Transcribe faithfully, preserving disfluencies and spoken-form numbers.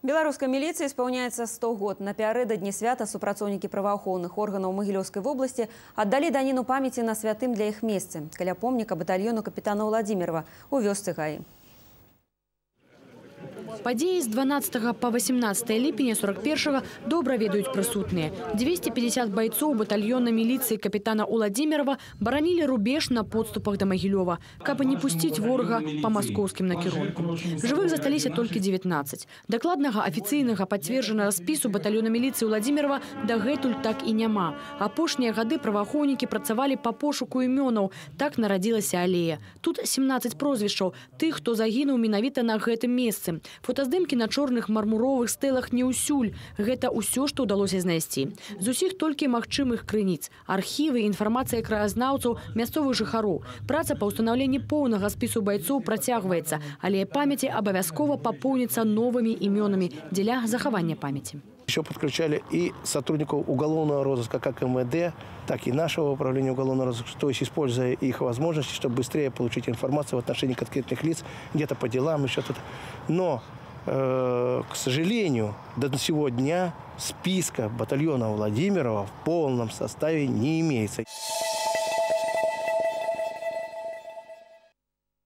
Белорусской милиции исполняется сто год. Напярэдадні свята супрацоўнікі праваахоўных органаў Могилевской области отдали данину памяти на святым для их месцы, каля помника батальону капитана Владимирова у вёсцы Гаи. Падзеі з дванаццатага па васемнаццатае ліпеня сорок першага добра ведаюць прысутныя. двести пятьдесят бойцов батальона милиции капитана Владимирова баранілі рубеж на подступах до Могилева, каб не пустить ворога по московским накірункам. Живых засталіся толькі девятнадцать. Дакладнага афіцыйнага пацверджанага спісу батальона милиции Владимирова дагэтуль так і няма. Апошнія гады праваахоўнікі працавалі по пошуку імёнаў. Так нарадзілася алея. Тут семнадцать прозвішчаў тых, хто загінуў менавіта на гэтым месцы. Фотаздымкі на чорных мармуровых стэлах не ўсюль. Гэта ўсё, што ўдалося знайсці. З усіх толькі магчымых крыніц. Архівы, інфармацыя краязнаўцаў, мясцовых жыхароў. Праца па ўстанаўленні поўнага спісу байцоў працягваецца, але памяці абавязкова папоўніцца новымі імёнамі дзеля захавання памяці. Еще подключали и сотрудников уголовного розыска, как эм вэ дэ, так и нашего управления уголовного розыска, то есть используя их возможности, чтобы быстрее получить информацию в отношении конкретных лиц, где-то по делам, еще что-то. Но, э, к сожалению, до сего дня списка батальона Владимирова в полном составе не имеется.